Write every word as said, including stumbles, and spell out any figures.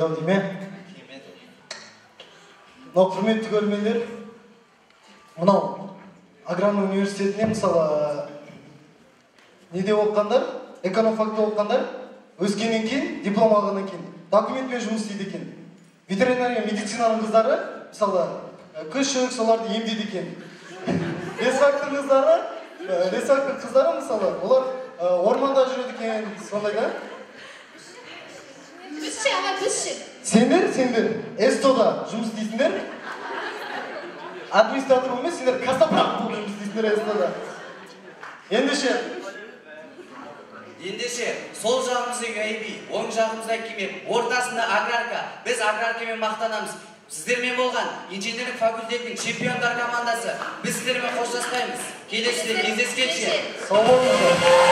ау дейме? Мынау құрметті көрермендер, мынау аграрлық университетіне мысалы неде оқығандар, экономфакта оқығандар, өскеннен кейін, диплом алғаннан кейін документпен жұмыс істейді екен. Ветеринария медицинаның қыздары, мысалы, күшік соларды емдейді екен. Лесфактор қыздары, лесфактор қыздары мысалы, олар орманда жүреді екен, сондай да? Біз ше, аға, біз ше. Сендер, сендер, эстода жұмыс істейсіңдер. Администратор емес, сендер кастапрак болып жұмыс істейсіңдер эстода. Ендеше, Ендеше, сол жағымызда айби, оң жағымызда кемек, ортасында аграрка, біз аграркамен мақтанамыз. Сіздермен болған инженерлік факультеттің чемпиондар командасы, біз сіздермен қоштаспаймыз. Келесіде кездескенше. Сау болыңыздар.